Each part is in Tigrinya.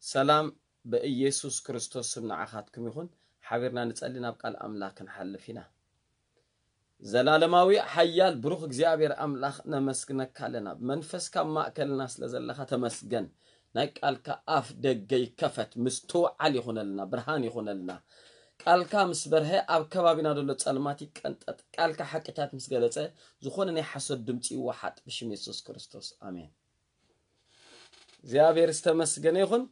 ሰላም ብኢየሱስ ክርስቶስ ስም ንዓኻትኩም ይኹን። ሓቢርና ንጸሊ፣ ናብ ቃል ኣምላኽ ክንሓልፍ ኢና። ዘላለማዊ ሓያል ብሩኽ እግዚኣብሔር ኣምላኽ ነመስግነካ ኣለና። ብመንፈስካ ኣብ ማእከልና ስለ ዘለኻ ተመስገን። ናይ ቃልካ ኣፍ ደገ ይከፈት፣ ምስትውዓል ይኹነልና፣ ብርሃን ይኹነልና። ቃልካ ምስ በርሀ ኣብ ከባቢና ዘሎ ጸልማት ይቀንጠጥ። ቃልካ ሓቅታት ምስ ገለጸ ዝኾነ ናይ ሓሶት ድምፂ ይወሓጥ ብሽም የሱስ ክርስቶስ ኣሜን። እግዚኣብሔር ዝተመስገነ ይኹን።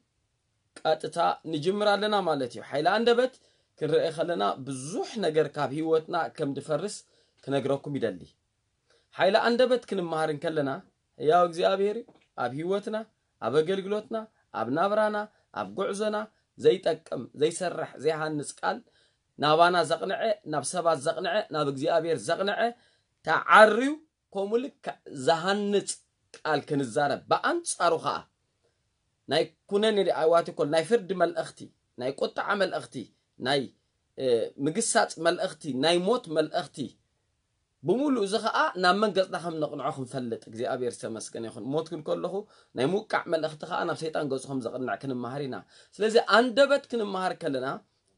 ቀጥታ ንጅምር ኣለና ማለት እዩ። ሓይሊ ኣንደበት ክንርኢ ከለና ብዙሕ ነገር ካብ ህይወትና ከም ድፈርስ ክነግረኩም ይደሊ። ሓይሊ ኣንደበት ክንመሃር እንከለና ሕያው እግዚኣብሔር ኣብ ህይወትና፣ ኣብ ኣገልግሎትና፣ ኣብ ናብራና፣ ኣብ ጉዕዞና ዘይጠቅም ዘይሰርሕ ዘይሃንጽ ቃል ናባና ዘቕንዐ፣ ናብ ሰባት ዘቕንዐ፣ ናብ እግዚኣብሔር ዘቕንዐ ተዓርዩ ከምኡ ልክዕ ዝሃንጽ ቃል ክንዛረብ፣ ብኣንጻሩ ኸዓ ናይ ኩነኔ ኣይዋት ኮል ናይ ፍርዲ መልእኽቲ፣ ናይ ቁጥዓ መልእኽቲ፣ ናይ ምግሳፅ መልእኽቲ፣ ናይ ሞት መልእኽቲ ብምሉእ እዚ ኸዓ ናብ መን ገፅና ከም ነቕንዖ ክንፈልጥ እግዚኣብሔር ዝተመስገነ ይኹን። ሞት ክብል ከለኹ ናይ ምውቃዕ መልእኽቲ ኸዓ ናብ ሰይጣን ገፁ ከም ዘቕንዕ ክንመሃር ኢና። ስለዚ ኣንደበት ክንመሃር ከለና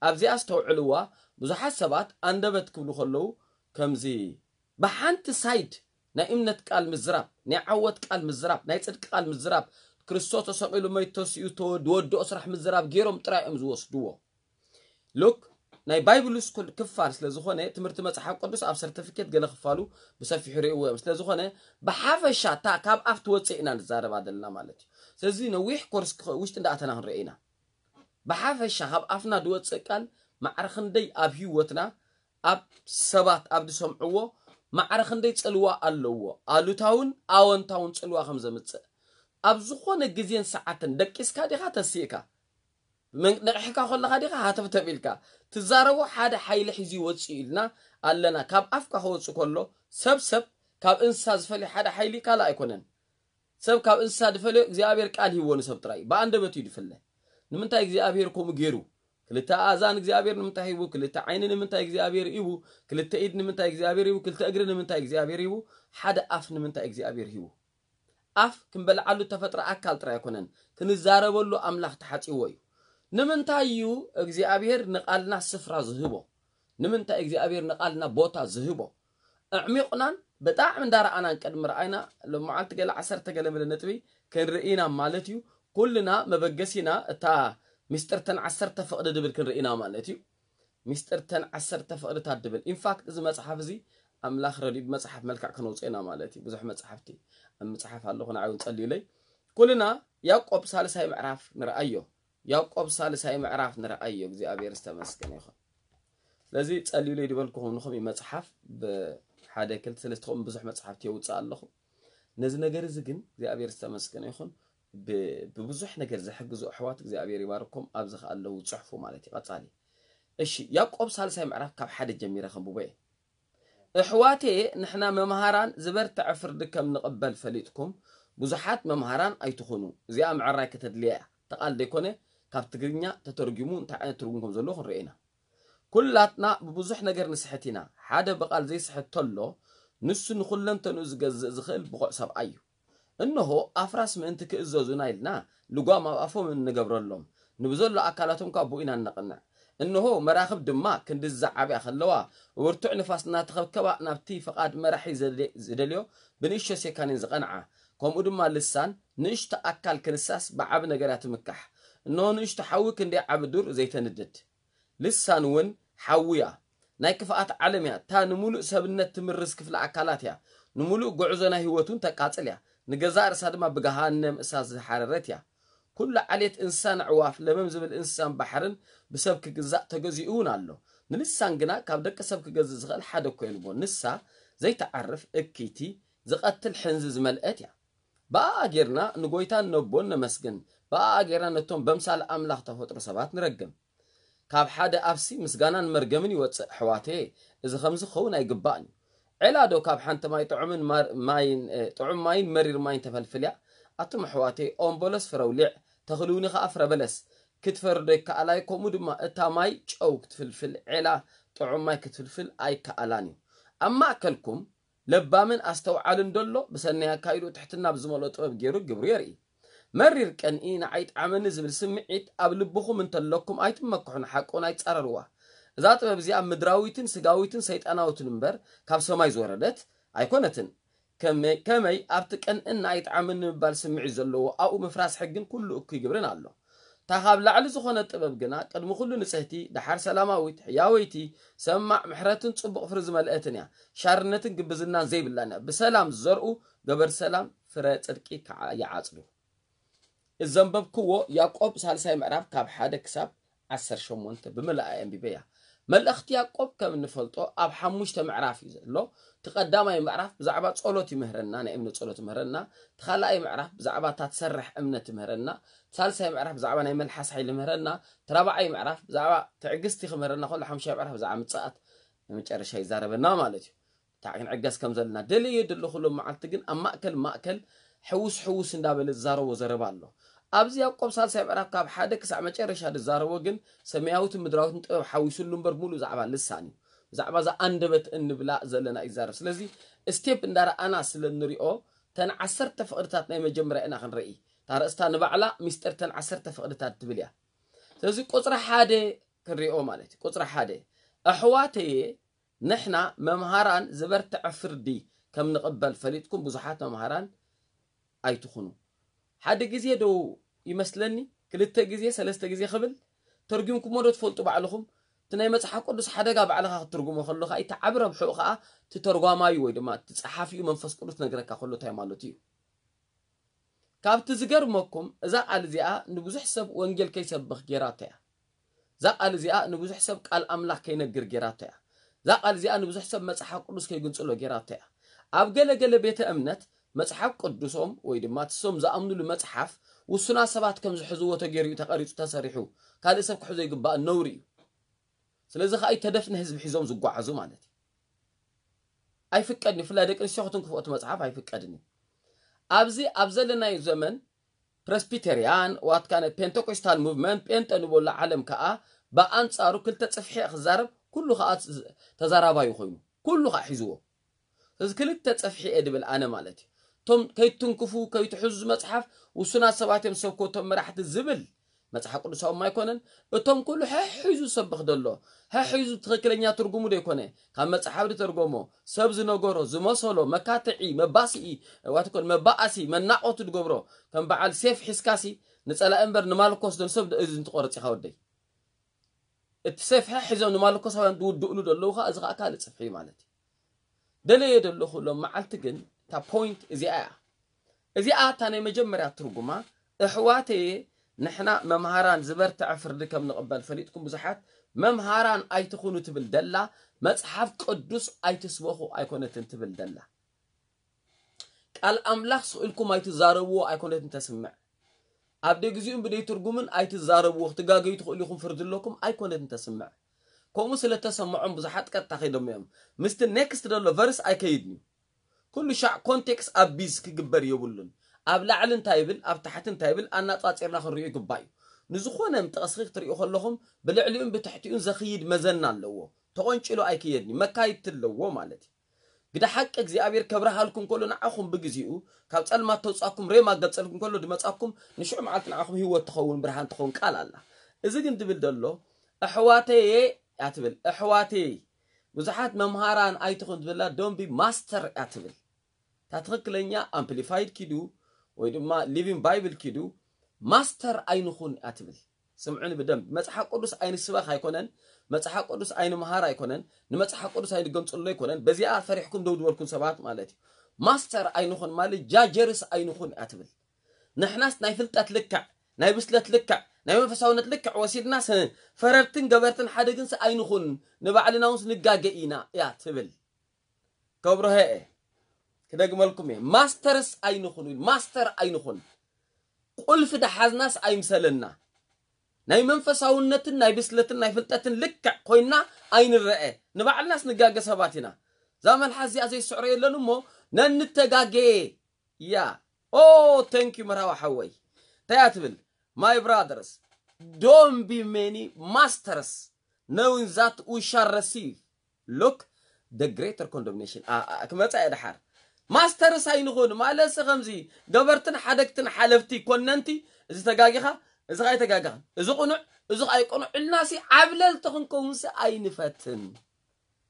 ኣብዚኣ ኣስተውዕልዋ። ብዙሓት ሰባት ኣንደበት ክብሉ ከለዉ ከምዚ ብሓንቲ ሳይድ ናይ እምነት ቃል ምዝራብ፣ ናይ ዓወት ቃል ምዝራብ፣ ናይ ጽድቂ ቃል ምዝራብ፣ ክርስቶስ ተሰቒሉ መይቱ ተሲኡ ተወ- ዝወድኦ ስራሕ ምዝራብ ገይሮም ጥራይ እዮም ዝወስድዎ። ሉክ ናይ ባይብል ስኩል ክፋል ስለ ዝኾነ ትምህርቲ መጽሓፍ ቅዱስ ኣብ ሰርቲፊኬት ገለ ክፋሉ ብሰፊሑ ርእይዎ እዮም። ስለ ዝኾነ ብሓፈሻ እታ ካብ ኣፍ ትወፅእ ኢና ንዛረባ ዘለና ማለት እዩ። ስለዚ ነዊሕ ኮርስ ክኸ- ውሽጢ እንዳኣተና ክንርኢ ኢና። ብሓፈሻ ካብ ኣፍና ዝወፅእ ቃል ማዕረ ክንደይ ኣብ ህይወትና ኣብ ሰባት ኣብ ዝሰምዕዎ ማዕረ ክንደይ ፅልዋ ኣለዎ፣ ኣሉታውን ኣወንታውን ፅልዋ ከም ዘምፅእ ኣብ ዝኾነ ግዜን ሰዓትን ደቂስካ ዲኻ ተሲእካ ነቂሕካ ከለኻ ዲኻ ሃተፍተፍ ኢልካ ትዛረቦ ሓደ ሓይሊ ሒዙ ይወፅእ ኢልና ኣለና። ካብ ኣፍካ ክወፅእ ከሎ ሰብ ሰብ ካብ እንስሳ ዝፈልዮ ሓደ ሓይሊ ካልእ ኣይኮነን። ሰብ ካብ እንስሳ ዝፈልዮ እግዚኣብሔር ቃል ሂብዎ ንሰብ ጥራይ ብኣንደበት እዩ ዝፍለ። ንምንታይ እግዚኣብሔር ከምኡ ገይሩ? ክልተ ኣእዛን እግዚኣብሔር ንምንታይ ሂቡ? ክልተ ዓይኒ ንምንታይ እግዚኣብሔር ሂቡ? ክልተ ኢድ ንምንታይ እግዚኣብሔር ሂቡ? ክልተ እግሪ ንምንታይ እግዚኣብሔር ሂቡ? ሓደ ኣፍ ንምንታይ እግዚኣብሔር ሂቡ? ኣፍ ክንበልዓሉ ተፈጥረ ኣካል ጥራይ ኣይኮነን፣ ክንዛረበሉ ኣምላኽ ተሓፂዎ እዩ። ንምንታይ እዩ እግዚኣብሔር ንቓልና ስፍራ ዝህቦ? ንምንታይ እግዚኣብሔር ንቓልና ቦታ ዝህቦ? ኣዕሚቑናን ብጣዕሚ እንዳረኣናን ቅድሚ ረኣይና ሎመዓልቲ ገለ ዓሰርተ ገለ ምለ ነጥቢ ክንርኢና ማለት እዩ። ኩልና መበገሲና እታ ሚስጥርተን ዓሰርተ ፍቕዲ ድብል ክንርኢና ማለት እዩ። ሚስጥርተን ዓሰርተ ፍቕድታት ድብል። ኢንፋክት እዚ መጽሓፍ እዚ ኣምላኽ ረድዩ ብመጽሓፍ መልክዕ ከነውፅኦ ኢና ማለት እዩ። ብዙሕ መጽሓፍቲ ኣብ ምጽሓፍ ኣለኹ ንዓይ እውን ጸልዩለይ። ኩልና ያዕቆብ ሳልሳይ ምዕራፍ ንርኣዮ። ያዕቆብ ሳልሳይ ምዕራፍ ንርኣዮ። እግዚኣብሔር ዝተመስገነ ይኹን። ስለዚ ጸልዩለይ ዝበልኩኹም ንኹም እዩ መጽሓፍ ብሓደ ክልተ ሰለስተ ኹም ብዙሕ መጽሓፍቲ የውፅእ ኣለኹ። ነዚ ነገር እዚ ግን እግዚኣብሔር ዝተመስገነ ይኹን ብብዙሕ ነገር ዝሕግዙ ኣሕዋት እግዚኣብሔር ይባርኮም። ኣብዚ ከኣ ኣለዉ ጽሑፉ ማለት እዩ። ቀጻሊ እሺ ያዕቆብ ሳልሳይ ምዕራፍ ካብ ሓደ ጀሚረ ከንብቦ እየ። እሕዋቴ ንሕና መምሃራን ዝበርትዐ ፍርዲ ከም ንቕበል ፈሊጥኩም ብዙሓት መምሃራን ኣይትኹኑ። እዚኣ ምዕራይ ከተድልያ እያ። ተቓል ዘይኮነ ካብ ትግርኛ ተተርጊሙ እንታይ ዓይነት ትርጉም ከም ዘለዎ ክንርኢ ኢና። ኩላትና ብብዙሕ ነገር ንስሕት ኢና። ሓደ ብቓል ዘይስሕት ተሎ ንሱ ንኹለንተንኡ ዝገዝእ ዝኽእል ብቑዕ ሰብኣይ እዩ። እንሆ ኣፍራስ ምእንቲ ክእዘዙና ኢልና ልጓም ኣብ ኣፎም እንገብረሎም፣ ንብዘሎ ኣካላቶም ካብ ብኡ ኢና እነቕንዕ። እንሆ መራኽብ ድማ ክንድዚ ዝዓብያ ከለዋ ብብርቱዕ ንፋስ እናተኸብከባ ናብቲ ፍቓድ መራሒ ዝደልዮ ብንእሽቶ ሴካኒን ዝቐንዓ። ከምኡ ድማ ልሳን ንእሽቶ ኣካል ክንሳስ ብዓቢ ነገር እያ ትምካሕ። እንሆ ንእሽቶ ሓዊ ክንደይ ዓቢ ዱር ዘይተንድድ። ልሳን እውን ሓዊ እያ። ናይ ክፍኣት ዓለም እያ። እታ ንምሉእ ሰብነት ትምርዝ ክፍሊ ኣካላት እያ። ንምሉእ ጉዕዞ ናይ ህይወት እውን ተቃጽል እያ። ንገዛእ ርእሳ ድማ ብገሃነም እሳት ዝሓረረት እያ። ኩሉ ዓሌት እንስሳን ኣዕዋፍ ለመም ዝብል እንስሳን ባሕርን ብሰብ ክግዛእ ተገዚኡ እውን ኣሎ። ንልሳን ግና ካብ ደቂ ሰብ ክገዝእ ዝኽእል ሓደ እኮ የልቦን። ንሳ ዘይትዓርፍ እክይቲ ዝቐትል ሕንዚ ዝመልአት እያ። ብኣኣ ጌርና ንጎይታን ነቦን ነመስግን። ብኣኣ ጌርና ነቶም በምሳል ኣምላኽ ተፈጥሮ ሰባት ንረግም። ካብ ሓደ ኣፍሲ ምስጋናን መርገምን ይወፅእ። ኣሕዋተየ፣ እዚ ከምዚ ክኸውን ኣይግባእን እዩ። ዔላ ዶ ካብ ሓንቲ ማይ ጥዑምን ማር- ማይን እ፣ ጥዑም ማይን መሪር ማይን ተፈልፍል እያ? ኣቱም ኣሕዋተየ፣ ኦም በለስ ፍረ ኣውሊዕ፣ ተኽሊ እውኒ ኸዓ ፍረ በለስ ክትፈሪ ዶ ይከኣል ኣዩ? ከምኡ ድማ እታ ማይ ጨው ክትፍልፍል ዔላ ጥዑም ማይ ክትፍልፍል ኣይከኣላን እዩ። ኣብ ማእከልኩም ለባምን ኣስተውዓልን ደሎ ብሰናይ ኣካይድኡ ትሕትና ብዝመልኦ ጥበብ ገይሩ ግብሩ የርኢ። መሪር ቀንኢ ንዓይ ጣዕመኒ ዝብል ስምዒት ኣብ ልብኹም እንተለኩም ኣይትመክሑ፣ ንሓቂ እውን ኣይትጻረርዋ። እዛ ጥበብ እዚኣ ምድራዊትን ስጋዊትን ሰይጣናዊትን እምበር ካብ ሰማይ ዝወረደት ኣይኮነትን። ከመይ ኣብቲ ቀንእን ንዓይ ጣዕመኒ ምባል ስምዒት ዘለዎ ኣብኡ ምፍራስ ሕግን ኩሉ እኩይ ግብርን ኣሎ። እታ ካብ ላዕሊ ዝኾነት ጥበብ ግና ቅድሚ ኩሉ ንጽህቲ፣ ደሓር ሰላማዊት፣ ሕያወይቲ፣ ሰማዕ፣ ምሕረትን ጽቡቕ ፍሪ ዝመልአትን እያ። ሻርነትን ግብዝናን ዘይብላን እያ። ብሰላም ዝዘርኡ ገበርቲ ሰላም ፍረ ጽድቂ ከዓ ይዓጽዱ። እዚ ዘንበብክዎ ያዕቆብ ሳልሳይ ምዕራፍ ካብ ሓደ ክሳብ ዓሰርተ ሸሞንተ ብምልኣ ኣንቢበያ። መልእኽቲ ያዕቆብ ከም እንፈልጦ ኣብ ሓሙሽተ ምዕራፍ እዩ ዘሎ። እቲ ቀዳማይ ምዕራፍ ብዛዕባ ጸሎት ይምህረና፣ ናይ እምነት ጸሎት ይምህረና። እቲ ካልኣይ ምዕራፍ ብዛዕባ እታ ትሰርሕ እምነት ይምህረና። እቲ ሳልሳይ ምዕራፍ ብዛዕባ ናይ መልሓስ ሓይሊ ይምህረና። እቲ ራብዓይ ምዕራፍ ብዛዕባ ትዕግስቲ ክምህረና ከሎ፣ ሓሙሻይ ምዕራፍ ብዛዕባ ምጽኣት ንመጨረሻ ይዛረበና ማለት እዩ። እንታይ ክንዕገስ ከም ዘለና ደልየ ዘለኹ ሎም መዓልቲ ግን ኣብ ማእከል ማእከል ሕውስ ሕውስ እንዳበለ ዝዛረቦ ዘረባ ኣሎ። ኣብዚ ያዕቆብ ሳልሳይ ምዕራፍ ካብ ሓደ ክሳዕ መጨረሻ ዝዛረቦ ግን ሰማያዊትን ምድራዊትን ጥበብ ሓዊሱሉ እምበር ሙሉእ ዛዕባ ልሳን እዩ። ብዛዕባ እዛ ኣንደበት እንብላ ዘለና እዩ ዝዛረብ። ስለዚ ስቴፕ እንዳረኣና ስለ እንሪኦ ተን ዓሰርተ ፍቕድታት ናይ መጀመርያ ኢና ክንርኢ። እታ ርእስታ ንባዕላ ሚስጥር ተን ዓሰርተ ፍቕድታት ትብል እያ። ስለዚ ቁፅሪ ሓደ ክንሪኦ ማለት እዩ። ቁፅሪ ሓደ ኣሕዋተየ ንሕና መምሃራን ዝበርትዐ ፍርዲ ከም ንቕበል ፈሊጥኩም ብዙሓት መምሃራን ኣይትኹኑ። ሓደ ግዜ ዶ ይመስለኒ ክልተ ግዜ ሰለስተ ግዜ ክብል ተርጉምኩሞ ዶ ትፈልጡ ባዕልኹም? እቲ ናይ መጽሓፍ ቅዱስ ሓደጋ ባዕልኻ ክትትርጉሞ ከለኻ እቲ ዓቢ ረብሕኡ ኸኣ እቲ ተርጓማዩ ወይ ድማ እቲ ጸሓፊኡ መንፈስ ቅዱስ ነግረካ ከሎ እንታይ ማለቱ እዩ። ካብቲ ዝገርመኩም እዛ ቃል እዚኣ ንብዙሕ ሰብ ወንጌል ከይሰብኽ ጌራቶ እያ። እዛ ቃል እዚኣ ንብዙሕ ሰብ ቃል ኣምላኽ ከይነግር ጌራቶ እያ። እዛ ቃል እዚኣ ንብዙሕ ሰብ መጽሓፍ ቅዱስ ከይግንጽሎ ጌራቶ እያ። ኣብ ገለ ገለ ቤተ እምነት መጽሓፍ ቅዱሶም ወይ ድማ እቲ እሶም ዝኣምኑሉ መጽሓፍ ውሱናት ሰባት ከም ዝሕዝዎ ተገይሩ እዩ ተቐሪጹ ተሰሪሑ። ካልእ ሰብ ክሕዞ ይግባእ ነውሪ እዩ። ስለዚ ኸኣ ተደፍነ ህዝቢ ሒዞም ዝጓዓዙ ማለት እዩ። ኣይፍቀድን እዩ። ብፍላይ ደቂ ኣንስትዮ ክትንክፍኦ እቲ መጽሓፍ ኣይፍቀድን እዩ። ኣብዚ ኣብ ዘለናዮ ዘመን ፕረስቢተርያን ዋትካነ ፔንቴኮስታል ሙቭመንት ጴንጠ ንበሎ ዓለም ከኣ ብኣንጻሩ ክልተ ጽፍሒ እየ ክዛረብ ኩሉ ከኣ ተዛራባዩ ኮይኑ ኩሉ ከኣ ሒዝዎ። እዚ ክልተ ጽፍሒ እየ ድብል ኣነ ማለት እዩ። እቶም ከይትንክፉ ከይትሕዙ መጽሓፍ ውሱናት ሰባት እዮም ሰብኮ እቶም መራሕቲ ዝብል መጽሓፍ ቅዱሳዊ ኣይኮነን። እቶም ኩሉ ሕሒዙ ዝሰብኽ ደሎ ሕሒዙ ትኽክለኛ ትርጉሙ ደይኮነ ካብ መጽሓፍ ዝተርጎሞ ሰብ ዝነገሮ ዝመሰሎ መካትዒ መባስኢ ዋትኮን መባኣሲ መናቆቱ ዝገብሮ ከም በዓል ሴፍ ሒዝካሲ ንጸላኢ እምበር ንማልኮስ ደን ሰብ እዚ እንትቆርጽ ኢኻ ወደይ። እቲ ሴፍ ሕሒዞም ንማልኮሳውያን ዝውድእሉ ዘለዉ ከዓ እዚ ከዓ ካልእ ጽፍሒ ማለት እዩ። ደለየ ዘለኹ ሎም መዓልቲ ግን እታ ፖይንት እዚኣ እያ። እዚኣ እታ ናይ መጀመርያ ትርጉማ እሕዋተየ ንሕና መምሃራን ዝበርትዐ ፍርዲ ከም ንቕበል ፈሊጥኩም ብዙሓት መምሃራን ኣይትኹኑ ትብል ደላ መጽሓፍ ቅዱስ ኣይትስበኹ ኣይኮነትን ትብል ደላ ቃል ኣምላኽ ስቕ ኢልኩም ኣይትዛረብዎ ኣይኮነትን ተስምዕ። ኣብ ደግዚኡን ብደይ ትርጉምን ኣይትዛረብዎ ክትጋገዩ ትኽእሉ ኢኹም ፍርዲ ኣለኩም ኣይኮነትን ተስምዕ። ከምኡ ስለ ተሰምዖም ብዙሓት ቀጥታ ከይዶም እዮም ምስቲ ኔክስት ዘሎ ቨርስ ኣይከይድን እዩ። ኩሉ ሻዕ ኮንቴክስት ኣቢዝ ክግበር የብሉን። ኣብ ላዕሊ እንታይ ይብል ኣብ ታሕቲ እንታይ ይብል ኣናጻጺርና ክንሪኦ ይግባእ እዩ። ንዝኾነ ጥቕሲ ክትሪኡ ከለኹም ብልዕሊኡን ብትሕቲኡን ዘኽይድ መዘና ኣለዎ። ተቖንጭሉ ኣይክየድን እዩ መካይድቲ ኣለዎ ማለት እዩ። ግደ ሓቂ እግዚኣብሔር ከብርሃልኩም ከሎ ንዓኹም ብግዚኡ ካብ ጸልማት ተውጻኩም ሬማ ገጸልኩም ከሎ ድመጻኩም ንሽዑ መዓልቲ ንዓኹም ህይወት ትኸውን ብርሃን ትኸውን ቃል ኣላ። እዚ ግን ድብል ደሎ ኣሕዋተየ እያ ትብል። ኣሕዋተይ ብዙሓት መምሃራን ኣይትኹን ትብላ don't be master እያ ትብል። እታ ትኽክለኛ ኣምፕሊፋይድ ኪዱ ወይ ድማ ሊቪንግ ባይብል ኪዱ ማስተር ኣይንኹን እያ ትብል። ስምዑኒ ብደንብ መጽሓፍ ቅዱስ ኣይንስበኽ ኣይኮነን። መጽሓፍ ቅዱስ ኣይንምሃር ኣይኮነን። ንመጽሓፍ ቅዱስ ኣይንገምጽሎ ኣይኮነን። በዚኣ ፈሪሕኩም ደው ዝበልኩም ሰባት ማለት እዩ። ማስተር ኣይንኹን ማለት ጃጀርስ ኣይንኹን እያ ትብል። ንሕናስ ናይ ፍልጠት ልክዕ ናይ ብስለት ልክዕ ናይ መንፈሳውነት ልክዕ ወሲድናስ ፈረድትን ገበርትን ሓደ ግንስ ኣይንኹን። ንባዕልና ውንስ ንጋገ ኢና እያ ትብል። ከብርሀ እየ ክደግመልኩም እየ። ማስተርስ ኣይንኹን ኢሉ ማስተር ኣይንኹን። ቁልፊ ደሓዝናስ ኣይምሰለና። ናይ መንፈሳውነትን ናይ ብስለትን ናይ ፍልጠትን ልክዕ ኮይና ኣይንረአ። ንባዕልናስ ንጋገ ሰባት ኢና። እዛ መልሓስ እዚኣ ዘይስዕሮ የለን እሞ ነንተጋገየ እያ። ኦ ተንኪዩ መርሃዊ ሓወይ እንታይ እያ ትብል? My brothers don't be many masters knowing that we shall receive look the greater condemnation ክመፃ እየ ድሓር ማስተርስ ኣይንኹን ማለት ሲ ከምዚ ገበርትን ሓደግትን ሓለፍቲ ኮነንቲ፣ እዚ ተጋጊኻ፣ እዚ ከኣ ኣይተጋግኻን፣ እዚ ቅኑዕ፣ እዚ ከኣ ኣይቅኑዕ ኢልናሲ ዓብለልቲ ክንከውንሲ ኣይንፈትን።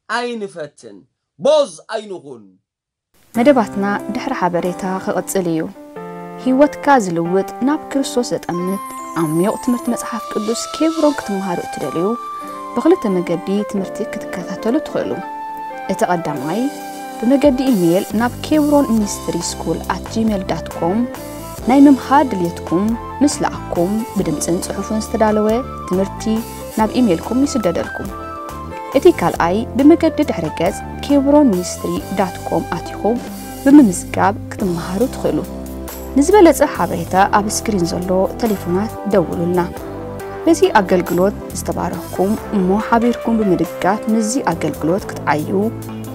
ኣይንፈትን። ቦዝ ኣይንኹን። መደባትና ድሕሪ ሓበሬታ ክቕጽል እዩ። ህይወትካ ዝልውጥ ናብ ክርስቶስ ዘጠምት ዓሚቕ ትምህርቲ መጽሓፍ ቅዱስ ኬብሮን ክትመሃሩ እትደልዩ ብኽልተ መገዲ ትምህርቲ ክትከታተሉ ትኽእሉ። እቲ ቀዳማይ ብመገዲ ኢሜይል ናብ ኬብሮን ሚኒስትሪ ስኩል ኣት ጂሜል ዳት ኮም ናይ ምምሃር ድልየትኩም ምስ ለኣኩም ብድምፅን ፅሑፍን ዝተዳለወ ትምህርቲ ናብ ኢሜይልኩም ይስደደልኩም። እቲ ካልኣይ ብመገዲ ድሕረ ገጽ ኬብሮን ሚኒስትሪ ዳት ኮም ኣቲኹም ብምምዝጋብ ክትመሃሩ ትኽእሉ። ንዝበለጸ ሓበሬታ ኣብ ስክሪን ዘሎ ቴሌፎናት ደውሉልና። በዚ ኣገልግሎት ዝተባረኽኩም እሞ ሓቢርኩም ብምድጋፍ ምስዚ ኣገልግሎት ክትዓዩ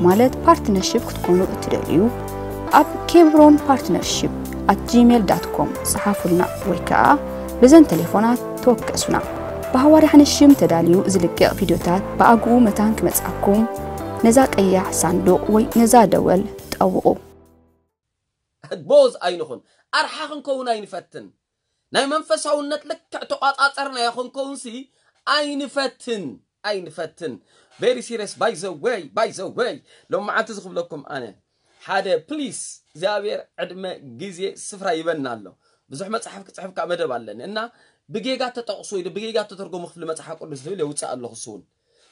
ማለት ፓርትነርሺፕ ክትኮኑ እትደልዩ ኣብ ኬብሮን ፓርትነርሺፕ ኣት ጂሜል ዳት ኮም ጽሓፉልና ወይ ከኣ በዘን ቴሌፎናት ተወከሱና። ብሃዋርያ ሓንሽም ተዳልዩ ዝልቀቕ ቪድዮታት ብኣግኡ መታን ክመጽኣኩም ነዛ ቀያሕ ሳንዱቕ ወይ ነዛ ደወል ጠውቑ። ቦዝ ኣይንኹን። ኣርሓ ክንከውን ኣይንፈትን። ናይ መንፈሳውነት ልክዕ ተቋጻጸርናዮ ክንከውንሲ ኣይንፈትን። ኣይንፈትን። Very serious, by the way, by the way። ሎም መዓልቲ ዝኽብለኩም ኣነ ሓደ ፕሊስ እግዚኣብሔር ዕድመ ግዜ ስፍራ ይበና ኣሎ። ብዙሕ መጽሓፍ ክጽሕፍ ካብ መደብ ኣለኒ እና ብጌጋ ተጠቕሱ ኢሉ ብጌጋ ተተርጎሙ ክፍሊ መጽሓፍ ቅዱስ ዝብል የውፅእ ኣለኹ። እሱ እውን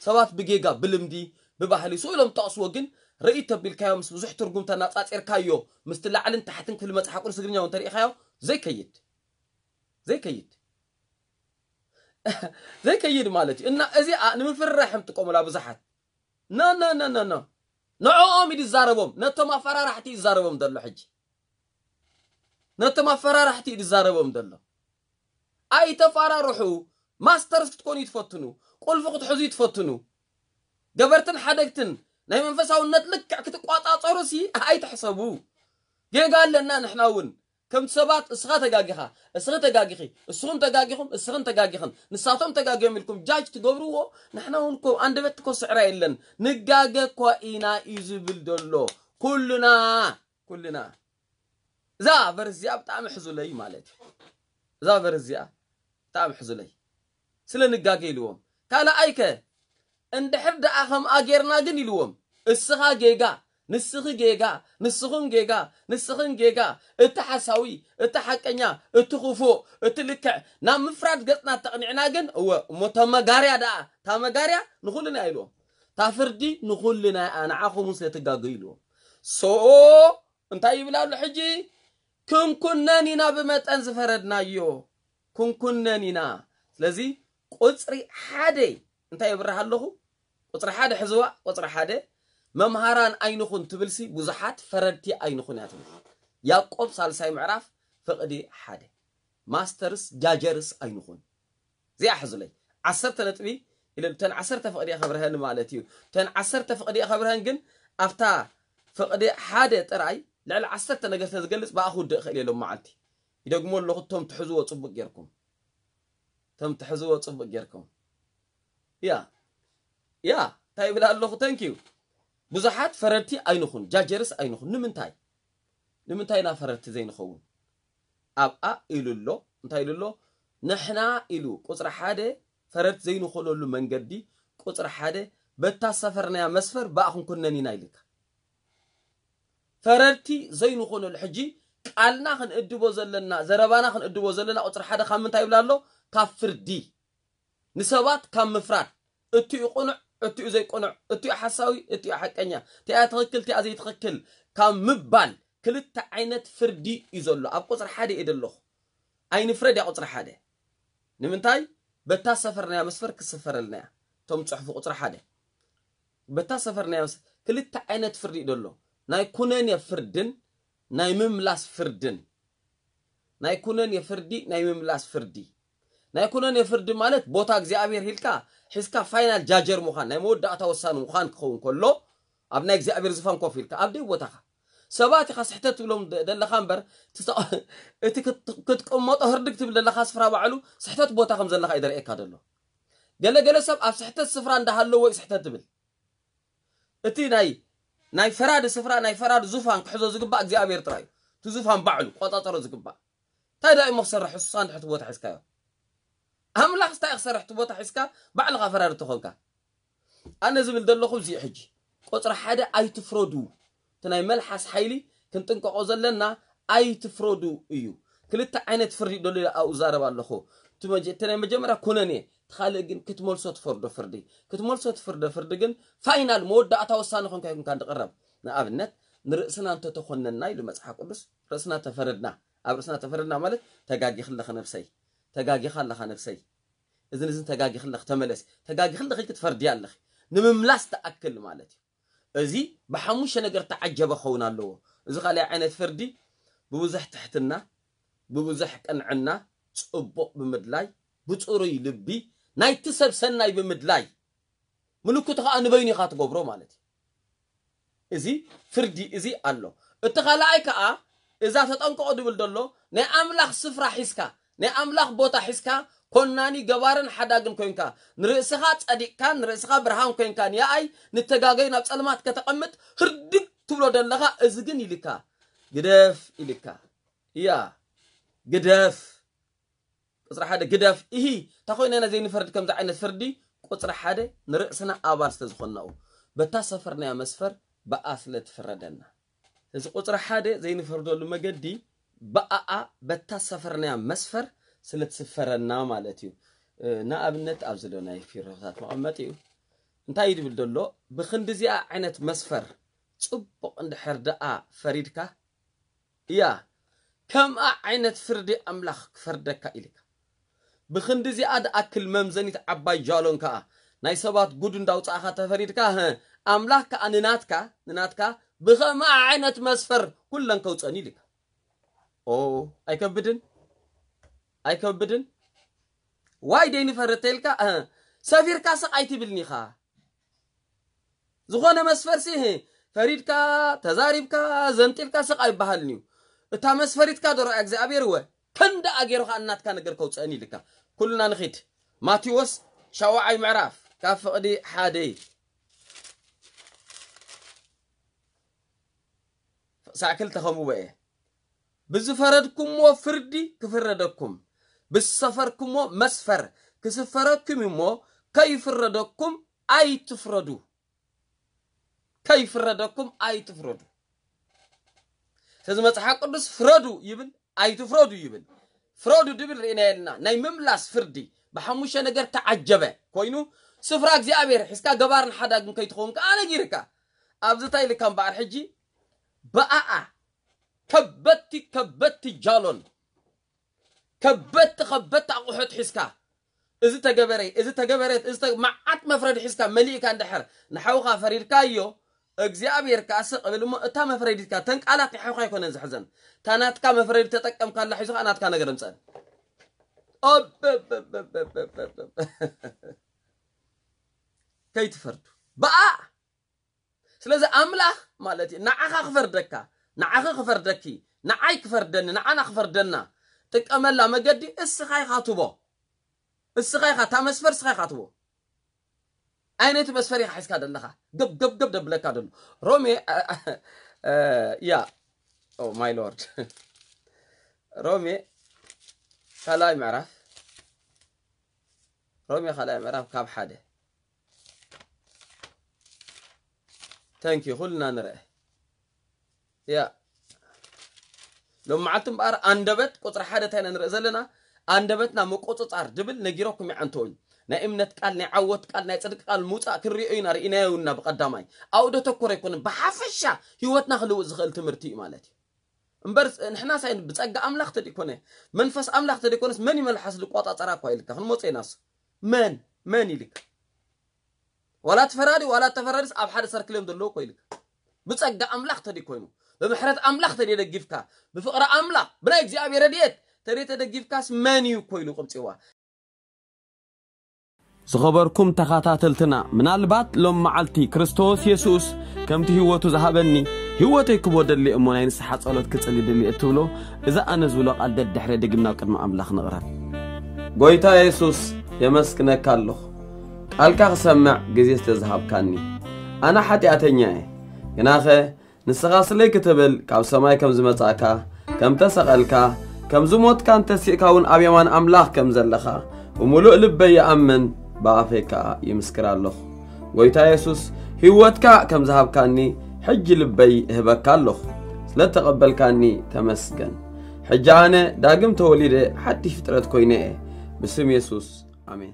ሰባት ብጌጋ ብልምዲ ብባህሊ ስኡ ኢሎም ጠቕስዎ፣ ግን ርእይ ተቢልካዮ ምስ ብዙሕ ትርጉም ተናጻጺርካዮ ምስቲ ላዕልን ታሕትን ክፍሊ መጽሓፍ ቅዱስ ትግርኛ እውን ተሪኢኻዮ ዘይከይድ ዘይከይድ ዘይከይድ ማለት እዩ። እና እዚኣ ንምፍርራሕ እዮም ጥቀሙላ ብዙሓት። ኖ ኖ ኖ ኖ ኖ ንዕኦም እዩ ዝዛረቦም፣ ነቶም ኣፈራራሕቲ እዩ ዝዛረቦም ዘሎ። ሕጂ ነቶም ኣፈራራሕቲ እዩ ዝዛረቦም ዘሎ። ኣይተፋራርሑ። ማስተርስ ክትኮኑ ትፈትኑ፣ ቁልፊ ክትሕዙ ትፈትኑ፣ ገበርትን ሓደግትን ናይ መንፈሳውነት ልክዕ ክትቋጻጸሩ ሲ ኣይትሕሰቡ። ጌጋ ኣለና ንሕና እውን ከምቲ ሰባት እስኻ ተጋጊኻ፣ እስኺ ተጋጊኺ፣ እስኹም ተጋጊኹም፣ እስኽን ተጋጊኽን፣ ንሳቶም ተጋጊዮም ኢልኩም ጃጅ ትገብርዎ። ንሕና እውን እኮ ኣንደበት እኮ ስዕራ የለን። ንጋገ እኳ ኢና እዩ ዝብል ዘሎ። ኩልና ኩልና እዛ ቨርስ እዚኣ ብጣዕሚ ሕዙለይ ማለት እዩ። እዛ ቨርስ እዚኣ ብጣዕሚ ሕዙለይ ስለ ንጋገ ኢልዎም። ካልኣይከ እንድሕር ደኣ ከምኣ ጌርና ግን ኢልዎም፣ እስኻ ጌጋ፣ ንስኺ ጌጋ፣ ንስኹም ጌጋ፣ ንስኽን ጌጋ፣ እቲ ሓሳዊ፣ እቲ ሓቀኛ፣ እቲ ክፉእ፣ እቲ ልክዕ ናብ ምፍራድ ገጽና ተቕኒዕና ግን እወ እሞ እታ መጋርያ ደኣ እታ መጋርያ ንኹልና ኢልዎም። እታ ፍርዲ ንኹልና እያ፣ ንዓኹም እውን ስለ ትጋገዩ ኢልዎም። ሶ እንታይ ይብል ኣሎ ሕጂ? ክንኩነን ኢና ብመጠን ዝፈረድናዮ ክንኩነን ኢና። ስለዚ ቁፅሪ ሓደ እንታይ የብርህ ኣለኹ? ቁፅሪ ሓደ ሕዝዋ። ቁፅሪ ሓደ መምሃራን ኣይንኹን ትብልሲ ብዙሓት ፈረድቲ ኣይንኹን እያ ትብል። ያዕቆብ ሳልሳይ ምዕራፍ ፍቕዲ ሓደ ማስተርስ ጃጀርስ ኣይንኹን። እዚኣ ሕዙለይ ዓሰርተ ነጥቢ ኢለ እተን ዓሰርተ ፍቕዲ ከብርሀን ማለት እዩ። እተን ዓሰርተ ፍቕዲ ከብርሀን ግን ኣብታ ፍቕዲ ሓደ ጥራይ ልዕሊ ዓሰርተ ነገር ስለዝገልጽ ብኣ ክውድእ እኽእል እየ ሎም መዓልቲ። ይደግሞ ኣለኹ፣ እቶም ትሕዝዎ ጽቡቕ ጌርኩም፣ እቶም ትሕዝዎ ጽቡቕ ጌርኩም። ያ ያ እንታይ ይብል ኣለኹ? ተንኪዩ ብዙሓት ፈረድቲ ኣይንኹን፣ ጃጀርስ ኣይንኹን። ንምንታይ ንምንታይ ኢና ፈረድቲ ዘይንኸውን? ኣብኣ ኢሉ ኣሎ። እንታይ ኢሉ ኣሎ? ንሕና ኢሉ ቁፅሪ ሓደ ፈረድቲ ዘይንኾነሉ መንገዲ ቁፅሪ ሓደ በታ ሰፈርናያ መስፈር ብኣ ክንኩነን ኢና ኢልካ። ፈረድቲ ዘይንኾነሉ ሕጂ ቃልና ክንእድቦ ዘለና ዘረባና ክንእድቦ ዘለና ቁፅሪ ሓደ ካብ ምንታይ ይብል ኣሎ? ካብ ፍርዲ ንሰባት ካብ ምፍራድ እቲኡ ቅኑዕ እቲኡ ዘይቅኑዕ እቲኡ ሓሳዊ እቲኡ ሓቀኛ እቲኣ ትኽክል እቲኣ ዘይትኽክል ካብ ምባል ክልተ ዓይነት ፍርዲ እዩ ዘሎ። ኣብ ቁፅሪ ሓደ እየ ዘለኹ። ኣይንፍረድ እያ ቁፅሪ ሓደ። ንምንታይ? በታ ሰፈርናያ መስፈር ክስፈረልና እያ። እቶም ፅሑፉ ቁፅሪ ሓደ በታ ሰፈርናያ መስ ክልተ ዓይነት ፍርዲ እዩ ዘሎ። ናይ ኩነኔ ፍርድን ናይ ምምላስ ፍርድን። ናይ ኩነኔ ፍርዲ ናይ ምምላስ ፍርዲ። ናይ ኩነኔ ፍርዲ ማለት ቦታ እግዚኣብሔር ሂልካ ሒዝካ ፋይናል ጃጀር ምዃን ናይ መወዳእታ ወሳኒ ምዃን ክኸውን ከሎ ኣብ ናይ እግዚኣብሔር ዝፋን ኮፍ ኢልካ ኣብ ደይ ቦታኻ ሰባት ኢኻ ስሕተት ትብሎም ዘለኻ እምበር እቲ ክትቅመጦ ህርድግ ትብል ዘለኻ ስፍራ ባዕሉ ስሕተት ቦታ ከም ዘለኻ እዩ ዘርእየካ ዘሎ። ገለገለ ሰብ ኣብ ስሕተት ስፍራ እንዳሃለዎ እዩ ስሕተት ትብል። እቲ ናይ ናይ ፈራዲ ስፍራ፣ ናይ ፈራዲ ዙፋን ክሕዞ ዝግባእ እግዚኣብሔር ጥራይ እዩ። እቲ ዙፋን ባዕሉ ቆጻጸሮ ዝግባእ። እንታይ ደኣ እሞ ክሰርሕ እሱ እንድሕር እቲ ቦታ ሒዝካዮ? ኣምላኽ እንታይ ክሰርሕ እቲ ቦታ ሒዝካ ባዕልኻ ፈራዲ ተኾንካ? ኣነ ዝብል ዘለኹ እዚ ሕጂ ቁጽሪ ሓደ ኣይትፍረዱ። እቲ ናይ መልሓስ ሓይሊ ክንጥንቀቆ ዘለና ኣይትፍረዱ እዩ። ክልተ ዓይነት ፍርዲ ደሎ ኣብኡ ዛረብ ኣለኹ። እቲ መጀ-፣ እቲ ናይ መጀመርያ ኩነኔ፣ እቲ ካልእ ግን ክትመልሶ ትፈርዶ ፍርዲ። ክትመልሶ ትፍርዶ ፍርዲ ግን ፋይናል መወዳእታ ወሳኒ ኮንካ ይኩንካ እንድቕረብ። ንኣብነት ንርእስና እንተተኾነና ኢሉ መጽሓፍ ቅዱስ ርእስና ተፈረድና። ኣብ ርእስና ተፈረድና ማለት ተጋጊኺ ኣለኺ ነብሰይ፣ ተጋጊኻ ኣለኻ ነብሰይ፣ እዝን እዝን ተጋጊኺ ኣለኺ ተመለሲ፣ ተጋጊኺ ኣለኺ ክትፈርዲ ኣለኺ ንምምላስ ትኣክል ማለት እዩ። እዚ ብሓሙሽተ ነገር ተዓጀበ ክኸውን ኣለዎ። እዚ ካልኣይ ዓይነት ፍርዲ ብብዙሕ ትሕትና፣ ብብዙሕ ቅንዕና፣ ጽቡቕ ብምድላይ፣ ብጽሩይ ልቢ ናይቲ ሰብ ሰናይ ብምድላይ፣ ምልክቱ ከኣ ንበይኑ ኢኻ ትገብሮ ማለት እዩ። እዚ ፍርዲ እዚ ኣሎ። እቲ ካልኣይ ከኣ እዛ ተጠንቀቑ ድብል ዘሎ ናይ ኣምላኽ ስፍራ ሒዝካ፣ ናይ ኣምላኽ ቦታ ሒዝካ ኮናኒ ገባርን ሓዳግን ኮንካ ንርእስኻ ጸዲቕካ ንርእስኻ ብርሃን ኮንካ ንኣይ ንተጋገዩ ናብ ጸልማት ከተቐምጥ ህርድግ ትብሎ ዘለኻ እዚ ግን ኢልካ ግደፍ ኢልካ እያ ግደፍ ቁጽሪ ሓደ ግደፍ። እሂ፣ እንታ ኮይና ኢና ዘይንፈርድ ከምዚ ዓይነት ፍርዲ? ቁጽሪ ሓደ ንርእስና ኣባል ስለ ዝኾንናኡ። በታ ሰፈርናያ መስፈር ብኣ ስለ ትፍረደና። እዚ ቁጽሪ ሓደ ዘይንፈርደሉ መገዲ ብኣኣ በታ ሰፈርናያ መስፈር ስለ ትስፈረና ማለት እዩ። እ፣ ንኣብነት ኣብዚ ዶ ናይ ፊሮታት መቐመጢ እዩ። እንታይ እዩ ድብል ዘሎ? ብኽንዲ እዚኣ ዓይነት መስፈር ጽቡቕ እንድሕር ደኣ ፈሪድካ እያ፣ ከምኣ ዓይነት ፍርዲ ኣምላኽ ክፈርደካ ኢልካ። ብኽንዲ እዚኣ ድኣክል መምዘኒት ዓባይ ጃሎን ከኣ ናይ ሰባት ጉድ እንዳውጻእኻ ተፈሪድካ፣ ህእ፣ ኣምላኽ ከኣ ንናትካ፣ ንናትካ ብኸምኣ ዓይነት መስፈር ኩለን ከውጸኒ ኢልካ። ኦ፣ ኣይከብድን? ኣይከብድን? ዋይ ደይንፈርድ ተይልካ፣ እህ፣ ሰፊርካ ስቕ ኣይትብልኒ ኢኻ። ዝኾነ መስፈርሲ፣ እህ፣ ፈሪድካ፣ ተዛሪብካ፣ ዘንጢልካ ስቕ ኣይበሃልን እዩ። እታ መስፈሪትካ ዶ ረኣያ እግዚኣብሔር እወ፣ ከንደኣ ገይሩ ኸኣ እናትካ ነገር ከውፅእን ኢልካ። ኩልና ንኺድ። ማቴዎስ ሻውዓይ ምዕራፍ፣ ካብ ፍቕዲ ሓደ። ሳዕ ክልተ ከምኡ እየ። ብዝፈረድኩምዎ ፍርዲ ክፍረደኩም፣ ብዝሰፈርኩምዎ መስፈር ክስፈረኩም እሞ ከይፍረደኩም ኣይትፍረዱ። ከይፍረደኩም ኣይትፍረዱ። ስለዚ መጽሓፍ ቅዱስ ፍረዱ ይብል፣ ኣይትፍረዱ ይብል። ፍረዱ ድብል ርኢና የልና። ናይ ምምላስ ፍርዲ ብሓሙሽተ ነገር ተዓጀበ ኮይኑ፣ ስፍራ እግዚኣብሔር ሒዝካ ገባርን ሓዳግን ከይትኸውን ከኣ ነጊርካ። ኣብዚ እንታይ ኢልካ እምበኣር ሕጂ ብኣኣ ከበድቲ ከበድቲ ጃሎን፣ ከበድቲ ከበድቲ ኣቑሑት ሒዝካ፣ እዚ ተገበረ፣ እዚ ተገበረት፣ እዚ ተ-፣ መዓት መፍረዲ ሒዝካ መሊእካ እንድሕር ንሓውኻ ፈሪድካዮ፣ እግዚኣብሔር ከኣ ስቕ ብል እሞ እታ መፍረዲትካ፣ እተን ቃላት ናይ ሓውኻ ኣይኮነን ዝሕዘን። እታ ናትካ መፍረዲ ተጠቀምካላ ሒዙ ከኣ ናትካ ነገር እምጸን። ኦበበበበበበበ። ከይትፈርዱ። ብኣ ስለዚ ኣምላኽ ማለት እዩ ንዓኻ ክፈርደካ፣ ንዓኺ ክፈርደኪ፣ ንዓይ ክፈርደኒ፣ ንዓና ክፈርደና ጥቀመላ መገዲ እስኻ ኢኻ ትቦ። እስኻ ኢኻ፣ እታ መስፈር እስኻ ኢኻ ትቦ። ኣይነቲ መስፈር ኢኻ ሒዝካ ዘለኻ። ገብ፣ ገብ፣ ገብ ደብለካ ደሎ። ሮሜ፣ እ፣ እ፣ ያ፣ ኦ ማይ ሎርድ። ሮሜ ካልኣይ ምዕራፍ፣ ሮሜ ካልኣይ ምዕራፍ ካብ ሓደ። ተንኪ ኩልና ንርአ። ያ። ሎም መዓልቲ እምበኣር ኣንደበት ቁጽሪ ሓደ እንታይ ኢና ንርኢ ዘለና? ኣንደበትና ምቁጽጻር ድብል ነጊረኩም ይዓንተውኝ። ናይ እምነት ቃል፣ ናይ ዓወት ቃል፣ ናይ ጽድቂ ቃል ምውጻእ ክንሪኦ ኢና፣ ርኢናዮ እና ብቐዳማይ። ኣብኡ ደተኮረ ኣይኮነን፣ ብሓፈሻ ህይወትና ክልውጥ ዝኽእል ትምህርቲ እዩ ማለት እዩ። እምበር ንሕና ሳይ ብጸጋ ኣምላኽ ተደይኮነ፣ መንፈስ ኣምላኽ ተደይኮነስ መን ይመልሓስ ዝቆጻጸራ እኳ ኢልካ ክንመጽእ ኢናስ። መን? መን ኢልካ? ዋላ እቲ ፈራዲ፣ ዋላ እተፈራዲስ ኣብ ሓደ ሰርክል እዮም ዘለዉ እኮ ኢልካ። ብጸጋ ኣምላኽ ተደይ ኮይኑ፣ ብምሕረት ኣምላኽ ተደይ ደጊፍካ፣ ብፍቕሪ ኣምላኽ፣ ብናይ እግዚኣብሔር ረድኤት ተደይ ተደጊፍካስ መን እዩ እኮ ኢሉ ቅብጽዋ። ዝኸበርኩም ተኻታተልትና፣ ምናልባት ሎም መዓልቲ ክርስቶስ የሱስ ከምቲ ህይወቱ ዝሃበኒ ህይወተይ ክቦ ደሊ እሞ ናይ ንስሓ ጸሎት ክጽሊ ድሊ እትብሎ፣ እዛ ኣነ ዝብሎ ቃል ደድሕረ ድግም ናብ ቅድሚ ኣምላኽ ንቕረብ። ጎይታ የሱስ፣ የመስግነካ ኣለኹ። ቃልካ ክሰምዕ ግዜ ስለ ዝሃብካኒ። ኣነ ሓጢኣተኛ እየ። ግናኸ ንስኻ ስለይ ክትብል ካብ ሰማይ ከም ዝመጻእካ፣ ከም ተሰቐልካ፣ ከም ዝሞትካን ተሲእካ እውን ኣብ የማን ኣምላኽ ከም ዘለኻ ብምሉእ ልበይ ይኣምን፣ ብኣፈይ ከኣ ይምስክር ኣለኹ። ጎይታ የሱስ፣ ህይወትካ ከም ዝሃብካኒ ሕጂ ልበይ እህበካ ኣለኹ። ስለ እተቐበልካኒ ተመስገን። ሕጂ ኣነ ዳግም ተወሊደ ሓድሽ ፍጥረት ኮይነ እየ። ብስም የሱስ፣ ኣሜን።